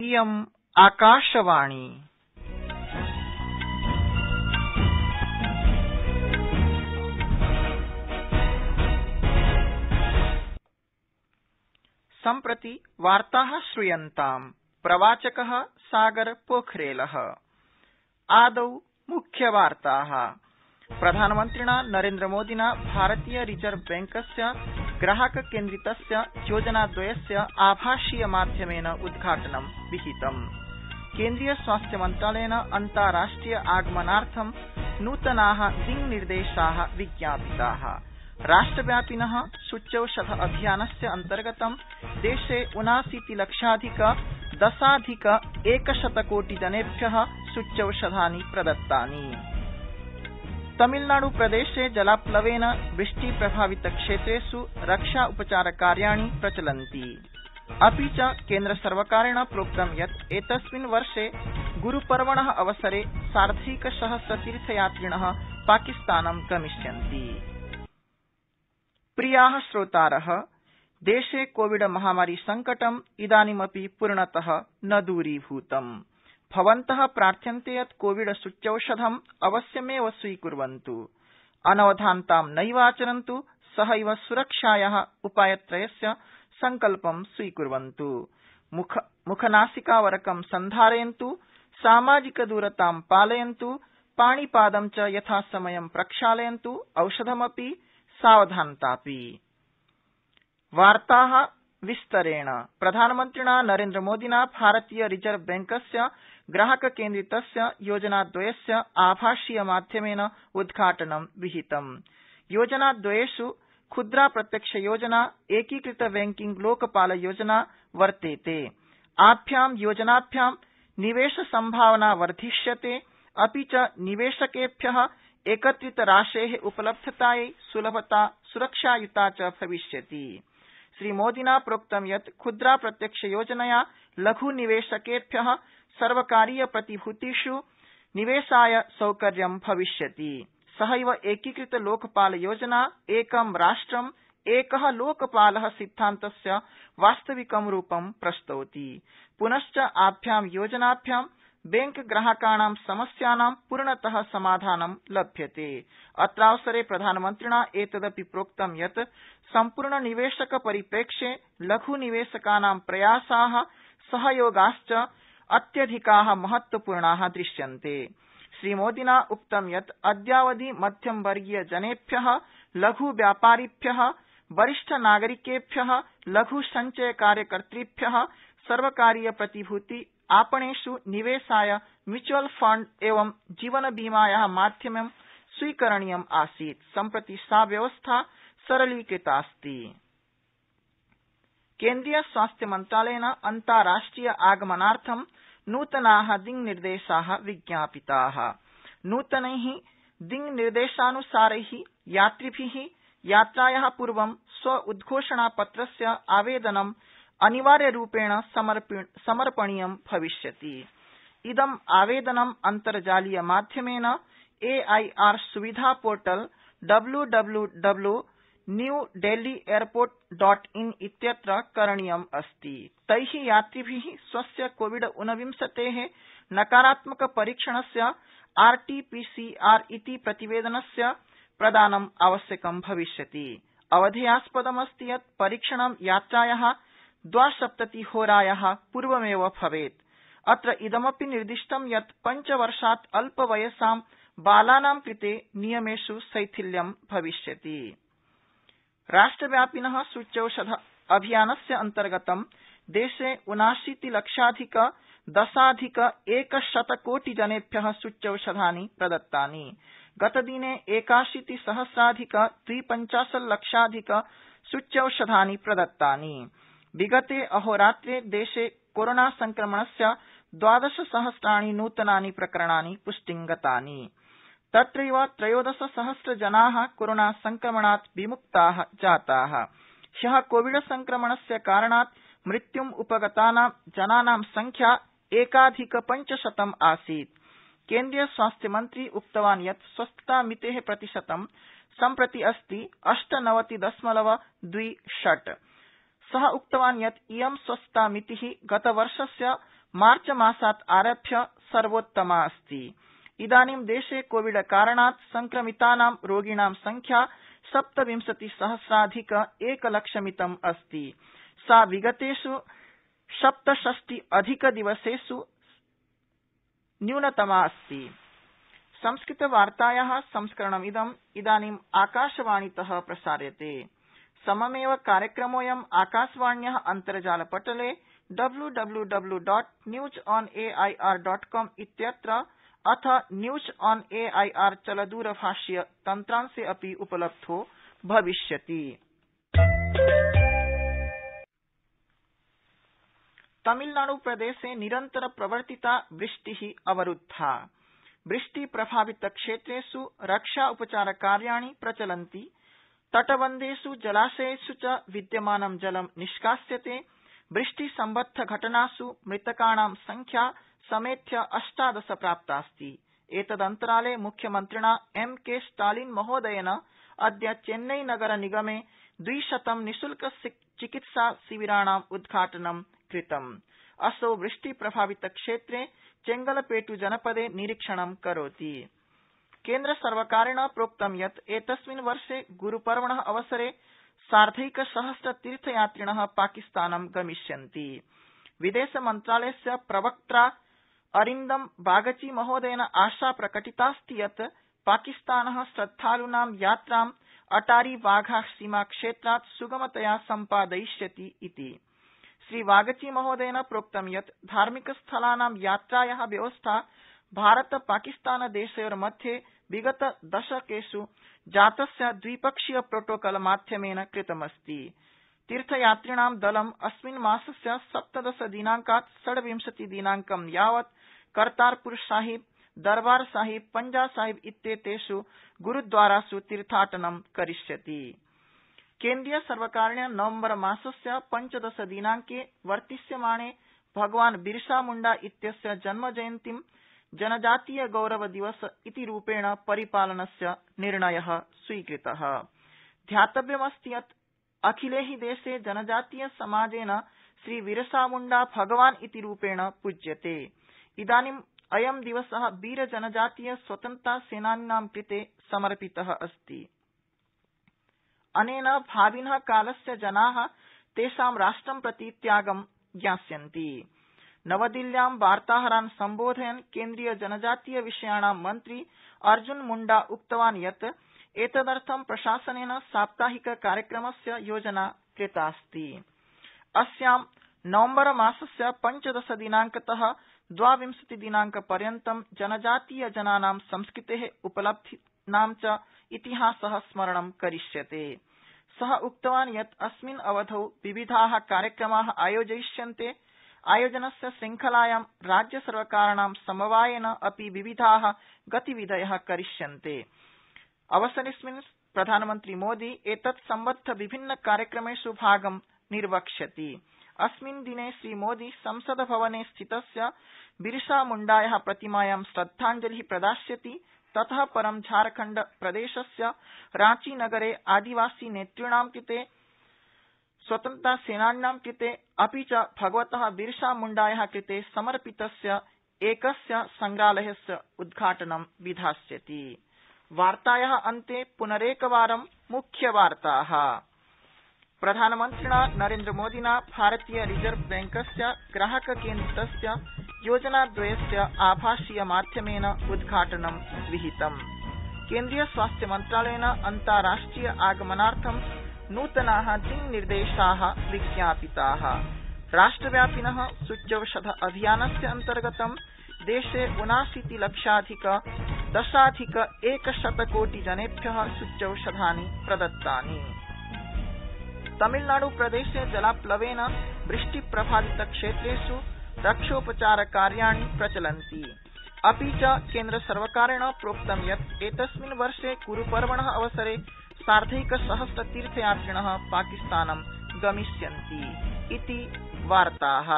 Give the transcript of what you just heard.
इयम् आकाशवाणी। सम्प्रति वार्ताः श्रूयन्ताम्। प्रवाचकः सागर पोखरेलः। आदौ मुख्यवार्ताः। प्रधानमन्त्रिणा नरेन्द्रमोदिना भारतीय रिजर्व बैंकस्य ग्राहककेन्द्रितस्य योजनाद्वयस्य आभाषीय माध्यमेन उद्घाटनं विहितम्। केन्द्रीय स्वास्थ्य मन्त्रालयेन अन्ताराष्ट्रिय आगमनार्थं नूतनाः दिङ्निर्देशाः विज्ञापिताः। राष्ट्रव्यापिनः सूच्यौषध अभियानस्य अन्तर्गतं देशे 79,10,100,कोटिजनेभ्यः सूच्यौषधानि प्रदत्तानि। तमिलनाडुप्रदेशे जलाप्लवेन वृष्टिप्रभावितक्षेत्रेषु रक्षा उपचारकार्याणि प्रचलन्ति। अपि च केन्द्रसर्वकारेण प्रोक्तं यत् एतस्मिन् वर्षे गुरुपर्वणः अवसरे सार्धैकसहस्र तीर्थयात्रिणः पाकिस्तानं गमिष्यन्ति। प्रियाः श्रोतारः, देशे कोविड महामारी संकटम् इदानीमपि पूर्णतः न दूरीभूतम्। भवन्तः प्रार्थ्यन्ते यत् कोविड सूच्यौषधम् अवश्यमेव स्वीकुर्वन्तु, अनवधानतां नैवाचरन्तु, सहैव सुरक्षायाः उपायत्रयस्य सङ्कल्पं स्वीकुर्वन्तु। मुखनासिकावरकं सन्धारयन्तु, सामाजिकदूरतां पालयन्तु, पाणिपादं च यथासमयं प्रक्षालयन्तु, औषधमपि सावधानतापि। वार्ताः विस्तरेण। प्रधानमन्त्रिणा नरेन्द्रमोदिना भारतीय रिजर्व बैंकस्य ग्राहककेन्द्रितस्य योजनाद्वयस्य आभाषीय माध्यमेन उद्घाटनं विहितम्। योजनाद्वयेषु क्षुद्रा प्रत्यक्षयोजना, एकीकृत बैंकिंग लोकपाल योजना वर्तेते। आभ्यां योजनाभ्यां निवेशसम्भावना वर्धिष्यते, अपि च निवेशकेभ्यः एकत्रितराशेः उपलब्धतायै सुलभता सुरक्षायुता च भविष्यति। श्रीमोदिना प्रोक्तं यत् क्षुद्रा प्रत्यक्षयोजनया लघुनिवेशकेभ्यः सर्वकारीयप्रतिभूतिषु निवेशाय सौकर्यं भविष्यति। सहैव एकीकृत लोकपाल योजना एकं राष्ट्रम् एकः लोकपालः सिद्धान्तस्य वास्तविकं रूपं प्रस्तौति। पुनश्च आभ्यां योजनाभ्यां बैंक ग्राहकाणां समस्यानां पूर्णतः समाधानं लभ्यते। अत्रावसरे प्रधानमन्त्रिणा एतदपि प्रोक्तं यत् सम्पूर्णनिवेशक परिप्रेक्ष्ये लघुनिवेशकानां प्रयासाः सहयोगाश्च अत्यधिकाः महत्वपूर्णाः दृश्यन्ते। श्रीमोदिना उक्तं यत् अद्यावधि मध्यमवर्गीयजनेभ्यः, लघुव्यापारिभ्यः, वरिष्ठनागरिकेभ्यः, लघुसञ्चयकार्यकर्तृभ्यः सर्वकारीयप्रतिभूति आपणेषु निवेशाय म्यूचुअल फंड एवं जीवनबीमायाः माध्यमं स्वीकरणीयम् आसीत्। सम्प्रति सा व्यवस्था सरलीकृतास्ति। केन्द्रीय स्वास्थ्य मन्त्रालयेन अन्ताराष्ट्रिय आगमनार्थं नूतनाः दिङ्निर्देशाः विज्ञापिताः। नूतनैः दिङ्निर्देशानुसारैः यात्रिभिः यात्रायाः पूर्वं स्व उद्घोषणापत्रस्य आवेदनं अनिवार्यरूपेण समर्पणीयं भविष्यति। इदम् आवेदनं अन्तर्जालीयमाध्यमेन AIR सुविधा पोर्टल www.newdelhyairport.in इत्यत्र करणीयम् अस्ति। तैः यात्रिभिः स्वस्य कोविड-19 नकारात्मकपरीक्षणस्य RT-PCR इति प्रतिवेदनस्य प्रदानम् आवश्यकं भविष्यति। अवधेयास्पदमस्ति यत् परीक्षणं यात्रायाः 72 पूर्वमेव भवेत्। अत्र इदमपि निर्दिष्टं यत् 5 वर्षात् अल्पवयसां बालानां कृते नियमेषु शैथिल्यं भविष्यति। राष्ट्रव्यापिनः सूच्यौषध अभियानस्य अन्तर्गतं देशे 79,10,100,कोटिजनेभ्यः सूच्यौषधानि प्रदत्तानि। गतदिने 81,सहस्राधिक-250,00,000 सूच्यौषधानि प्रदत्तानि। विगते अहोरात्रे देशे कोरोना संक्रमणस्य 12,000 नूतनानि प्रकरणानि पुष्टिंगतानि। तत्रैव 13,000 जनाः कोरोना संक्रमणात् विमुक्ताः जाताः। ह्यः कोविड संक्रमणस्य कारणात् मृत्युम् उपगतानां जनानां संख्या 1,500 आसीत्। केन्द्रीय स्वास्थ्यमन्त्री उक्तवान् यत् स्वस्थतामितेः प्रतिशतं सम्प्रति अस्ति 98.26। सः उक्तवान् यत् इयं स्वस्थतामितिः गतवर्षस्य मार्चमासात् आरभ्य सर्वोत्तमा अस्ति। इदानीं देशे कोविड कारणात् संक्रमितानां रोगिणां संख्या 27,000,000 एकलक्षमितम् अस्ति। सा विगतेष् 67 दिवसेष् न्यूनतमा अस्ति। संस्कृतवार्तायाः संस्करणमिदं इदानीम् आकाशवाणीतः प्रसार्यते। सममेव कार्यक्रमोऽयं आकाशवाण्याः अन्तर्जालपटले www.newsonair.com इत्यत्र अथ न्यूज ऑन एआईआर चलदूरभाषीय तन्त्रांशे अपि उपलब्धो भविष्यति। तमिलनाडुप्रदेशे निरन्तर प्रवर्तिता वृष्टिः अवरुद्धा। वृष्टि प्रभावित क्षेत्रेष् रक्षा उपचार कार्याणि प्रचलन्ति। तटबन्धेष् जलाशयेष् च विद्यमानं जलं निष्कास्यते। वृष्टि सम्बद्ध घटनास् मृतकाणां संख्या समेध्य 18 प्राप्तास्ति। एतदन्तराले मुख्यमन्त्रिणा M.K. स्टालिन महोदयेन अद्य चेन्नई नगर निगमे 200 निःशुल्क चिकित्सा शिविराणाम् उद्घाटनं कृतम्। असौ वृष्टि प्रभावित क्षेत्रे चेंगलपेट् जनपदे निरीक्षणं करोति। केन्द्रसर्वकारेण प्रोक्तं यत् एतस्मिन् वर्षे गुरुपर्वणः अवसरे 1,50,000 तीर्थयात्रिणः पाकिस्तानं गमिष्यन्ति। विदेशमन्त्रालयस्य प्रवक्त्रा अरिन्दम बागची महोदयेन आशा प्रकटितास्ति यत् पाकिस्तानः श्रद्धालूनां यात्रां अटारी वाघा सीमाक्षेत्रात् सुगमतया सम्पादयिष्यति इति। श्रीवागची महोदयेन प्रोक्तं यत् धार्मिकस्थलानां यात्रायाः व्यवस्था भारत पाकिस्तान देशयोर्मध्ये विगत दशकेष् जातस्य द्विपक्षीय प्रोटोकॉल माध्यमेन कृतमस्ति। तीर्थयात्रिणां दलम् अस्मिन् मासस्य 17 दिनांकात् 26 दिनांकं यावत् करतारपुर साहिब, दरबार साहिब, पंजा साहिब इत्येतेष् गुरुद्वारासु तीर्थाटनं करिष्यति। केन्द्रीय सर्वकारेण नवम्बर मासस्य 15 दिनांके वर्तिष्यमाणे भगवान बिरसा मुण्डा इत्यस्य जन्मजयन्तीं जनजातीय गौरव दिवस इति रूपेण परिपालनस्य निर्णयः स्वीकृतः। ध्यातव्यमस्ति यत् अखिले हि देशे जनजातीय समाजेन श्रीबिरसामुण्डा भगवान् इति रूपेण पूज्यते। इदानीम् अयं दिवसः वीर जनजातीय स्वतन्त्रता सेनानिनां कृते समर्पितः अस्ति। अनेन भाविनः कालस्य जनाः तेषां राष्ट्रं प्रति त्यागं ज्ञास्यन्ति। नवदिल्ल्यां वार्ताहरान् सम्बोधयन् केन्द्रीय जनजातीय विषयाणां मन्त्री अर्जुन मुण्डा उक्तवान् यत् एतदर्थं प्रशासनेन साप्ताहिक कार्यक्रमस्य योजना कृतास्ति। अस्यां नवम्बर मासस्य 15 दिनांकतः 22 दिनांकपर्यन्तं जनजातीय जनानां संस्कृतेः उपलब्धीनां च इतिहासः स्मरणं करिष्यते। सः उक्तवान् यत् अस्मिन् अवधौ विविधाः कार्यक्रमाः आयोजयिष्यन्ते। आयोजनस्य श्रृंखलायां राज्यसर्वकाराणां समवायेन अपि विविधाः गतिविधयः करिष्यन्ते। अवसरेऽस्मिन् प्रधानमन्त्री मोदी एतत् सम्बद्ध विभिन्न कार्यक्रमेष् भागं निर्वक्ष्यति। अस्मिन् दिने श्रीमोदी संसद भवने स्थितस्य बिरसा मुण्डायाः प्रतिमायां श्रद्धाञ्जलिः प्रदास्यति। ततः परं झारखण्ड प्रदेशस्य रांची नगरे आदिवासी नेतॄणां कृते, स्वतन्त्रता सेनानिनां कृते अपि च भगवतः बिरसा मुण्डायाः कृते समर्पितस्य एकस्य संग्रहालयस्य उद्घाटनं विधास्यति। वार्तायाः अन्ते पुनरेकवारं मुख्यवार्ताः। प्रधानमन्त्रिणा नरेन्द्रमोदिना भारतीय रिजर्व बैंकस्य ग्राहककेन्द्रितस्य योजनाद्वयस्य आभासीय माध्यमेन उद्घाटनं विहितम्। केन्द्रीय स्वास्थ्य मन्त्रालयेन अन्ताराष्ट्रिय आगमनार्थं नूतनाः दिङ्निर्देशाः विज्ञापिताः। राष्ट्रव्यापिनः सूच्यौषध अभियानस्य अन्तर्गतं देशे 79 लक्षाधिक 10,100 कोटि जनेभ्यः सूच्यौषधानि प्रदत्तानि। तमिलनाडुप्रदेशे जलाप्लवेन वृष्टिप्रभावितक्षेत्रेष् रक्षोपचारकार्याणि प्रचलन्ति। अपि च केन्द्रसर्वकारेण प्रोक्तं यत् एतस्मिन् वर्षे गुरुपर्वणः अवसरे 1,50,000 तीर्थयात्रिणः पाकिस्तानं गमिष्यन्ति इति वार्ताः।